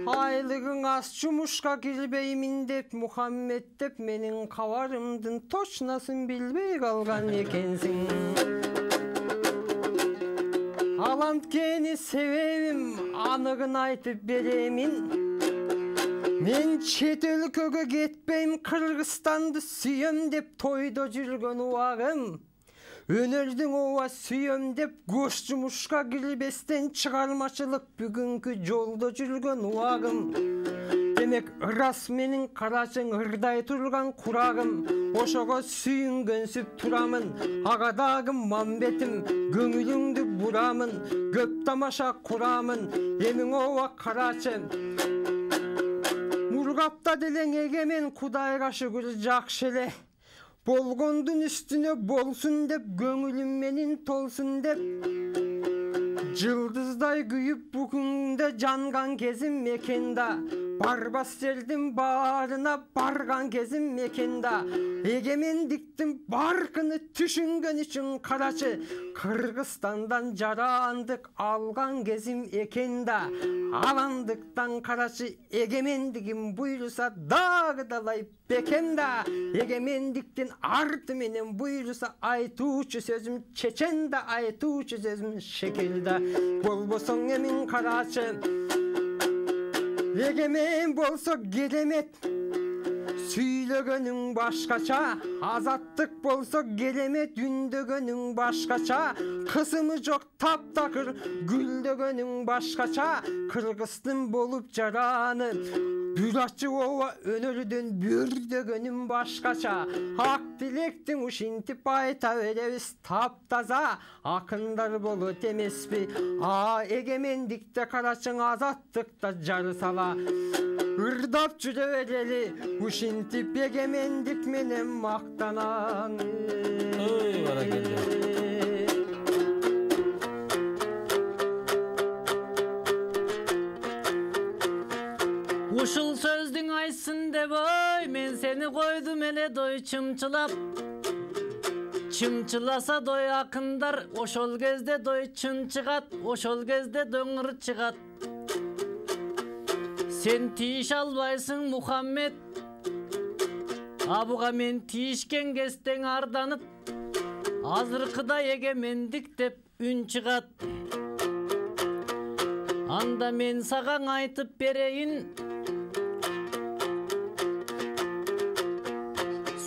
Speaker 2: Айлыгың аз жумушка кирбеймин деп Мухаммед деп менин кабарымдын точносын билбей калган экенсиң. Ал анткени себебим аныгын айтып беремин. Мен чет өлкөгө кетпейм, Кыргызстанды сүйөм деп тойдо жүргөн убагым. Өнөрдүң ооба сүйөм деп кош жумушка кирбестен чыгармачылык бүгүнкү жолдо жүргөн убагым. Демек ырас менин карачың ырдай турган курагым. Ошого сүйүнгөнсүп турамын, ага дагы мамбетим. Көңүлүңдү бурамын, көп тамаша курамын. Эмиң ооба карачы. Мургапта делең эгемен Кудайга шүгүр жакшы эле. Болгондун үстүнө болсун деп, көңүлүм менин толсун деп. Жылдыздай күйүп бүгүндө жанган кезим мекенда. Барбас жердин баарына барган кезим мекенда. Эгемендиктин баркыны түшүнгөн үчүн карачы, Кыргызстандан жарандык алган кезим экенда. Аландыктан карачы, эгемендигим буйруса дагы далай бекемда. Эгемендиктин арты менен буйруса айтуучу сөзүм чеченда, айтуучу сөзүм шекелда. Болбосоң эмин карачы, эгемен болсо керемет. Сүйлөгөнүң башкача, азаттык болсо керемет. Үндөгөнүң башкача, кысымы жок таптакыр. Гүлдөгөнүң башкача, Кыргыздын болуп жараны. Бүр ачы ооба өнөрдөн бүрдөгөнүм башкача. Ак тилектин ушинтип айта беребиз таптаза. Акындар болот эмеспи, а эгемендикте карачың азаттыкта жары сала. Ырдап жүрө берели, ушинтип эгемендик менен мактанам.
Speaker 1: Ой, баракелде.
Speaker 3: Ушул сөздүң айтсын деп ой, мен сени койдум эле дой чымчылап. Чымчыласа дой акындар, ошол кезде дой чын чыгат, ошол кезде дөңүр чыгат. Сен тийиш албайсың Мухаммед, абуга мен тийишкен кезден арданып, азыркыда эгемендик деп үн чыгат. Анда мен сагаң айтып берейин,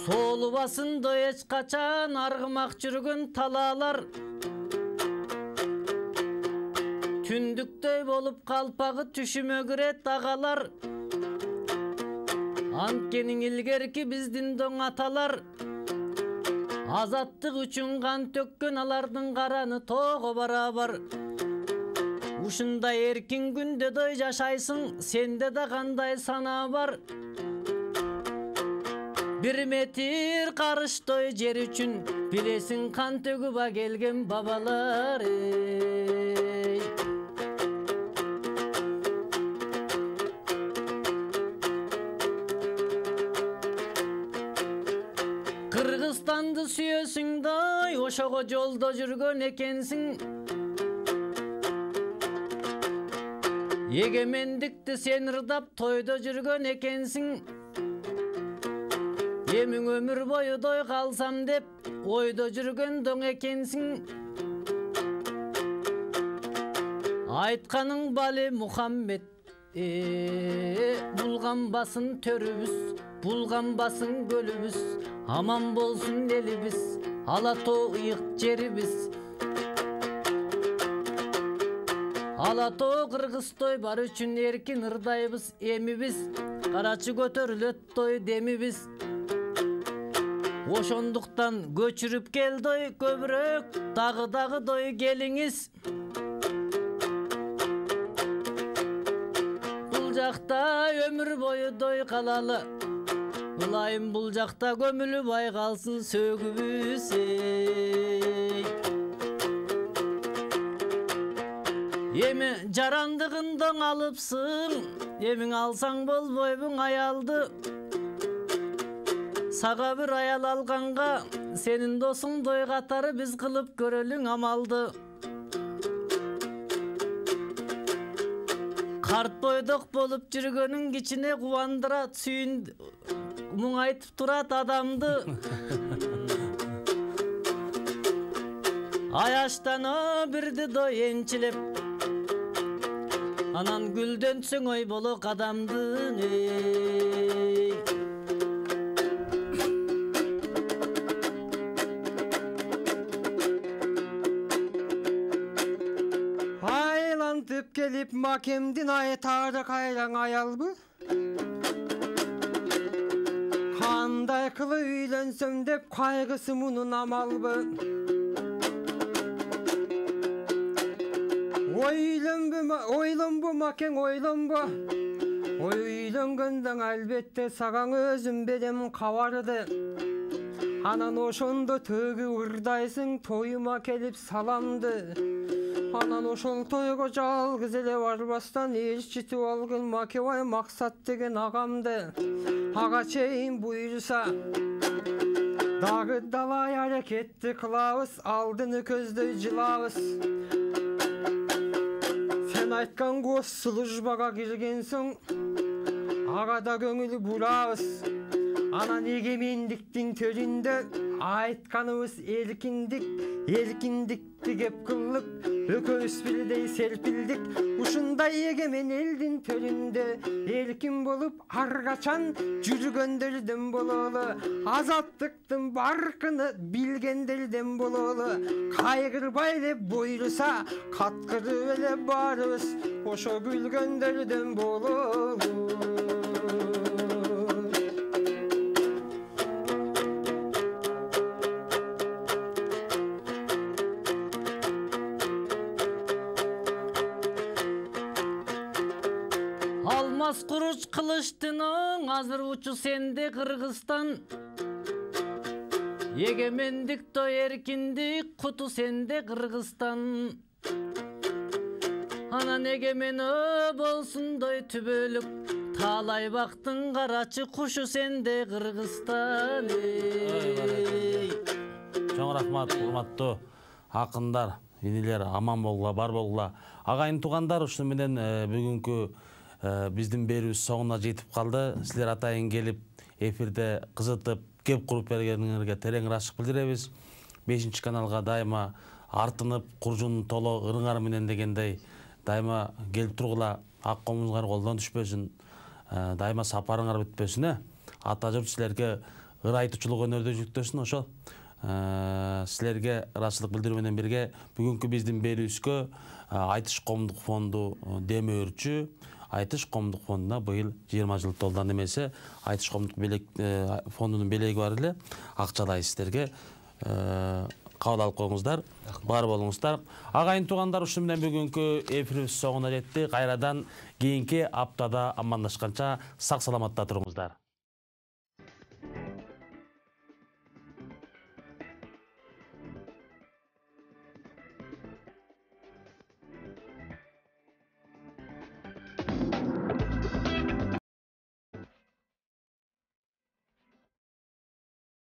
Speaker 3: соолубасын дой эч качан аргымак жүргөн талаалар. Түндүктөй болуп калпагы түшүмөгүрөт агалар. Анткени илгерки биздин доң аталар азаттык үчүн кан төккөн, алардын караны тоого барабар. Ушундай эркин күндө дой жашайсың, сенде да кандай санаа бар. Бир метр карыштой жер үчүн, билесиң кан төгүп келген бабалар. Кыргызстанды сүйөсүң дой, ошого жолдо жүргөн экенсиң. Эгемендикти сен ырдап тойдо жүргөн экенсиң. Эмиң өмүр бою дой калсам деп ойдо жүргөн доң экенсиң. Айтканың бали Мухаммед, булганбасын төрүбүз, булганбасын көлүбүз, аман болсун элибиз, ала тоо ыйык жерибиз. Ала тоо Кыргызтой бар үчүн эркин ырдайбыз эмибиз, карачы көтөрүлөт той демибиз. Ошондуктан көчүрүп келдой көбүрөөк дагы дагы дой келиңиз. Бул жакта өмүр бою дой калалы. Ылайым бул жакта көмүлүп ай калсын сөгүбүз. Эми жарандыгыңдан алыпсың, эмиң алсаң болбойбуң аялды. Сага бир аял алганга, сенин досуң дой катары биз кылып көрөлүң амалды. Карт бойдок болуп жүргөнүң кичине кубандырат, сүйүн муңайтып турат адамды. Аяштан бирди дой энчилеп, анан гүлдөнсөң ой болок адамдын.
Speaker 2: Айлантып келип макемдин айтары кайраң аялбы? Кандай кылып үйлөнсөм деп кайгысы мунун амалбы? Ойлонбо, ойлонбо макең, ойлонбо. Үйлөнгөндөн албетте сагаң өзүм берем кабарды. Анан ошондо төгү ырдайсың тоюма келип саламды. Анан ошол тойго жалгыз эле барбастан ээрчитип алгын Макебай Максат деген агамды. Ага чейин буйруса дагы далай аракетти кылабыз, алдыны көздөй жылабыз. Сен айткан госслужбага кирген соң ага да көңүл бурабыз. Анан эгемендиктин төрүндө айтканыбыз эркиндик, эркиндикти кеп кылдык, экөөбүз бирдей серпилдик. Ушундай эгемен элдин төрүндө эркин болуп ар качан жүргөндөрдөн бололу. Азаттыктын баркыны билгендерден бололу. Кайгырбай эле буйруса каткырып эле барыбыз, ошо күлгөндөрдөн бололу.
Speaker 3: Алмаз куруч кылычтын оң, азыр учу сенде Кыргызстан. Эгемендик той эркиндик, куту сенде Кыргызстан. Анан эгемен болсун дой түбөлүк, таалай бактын карачы кушу сенде Кыргызстан.
Speaker 1: Чоң рахмат, урматтуу акындар, инилер, аман болгула, бар болгула. Агайын туугандар, ушуну менен бүгүнкү биздин берүүбүз соңуна жетип калды. Силер атайын келип, эфирде кызытып, кеп куруп бергениңерге терең ырашык билдиребиз. бешинчи каналга дайыма артынып, куржун толо ырыңар менен дегендей дайыма келип тургула, ак комуңузга колдон түшпөсүн, дайыма сапарыңар бүтпөсүн, э? Ата журт силерге ырайтуучулук өнөрдө жүктөсүн, ошол. Силерге ырашчылык билдирүү менен бирге бүгүнкү биздин берүүбүзгө Айтыш коомдук фонду демөөрчү. Айтыш коомдук фондуна быйыл жыйырма жыл толду. Немесе Айтыш коомдук фондунун белеги бар эле, акчалай сиздерге кабыл алып коюңуздар, бар болуңуздар. Агайын туугандар, ушуну менен бүгүнкү эфирибиз соңуна жетти. Кайрадан кийинки аптада амандашканча сак саламатта туруңуздар.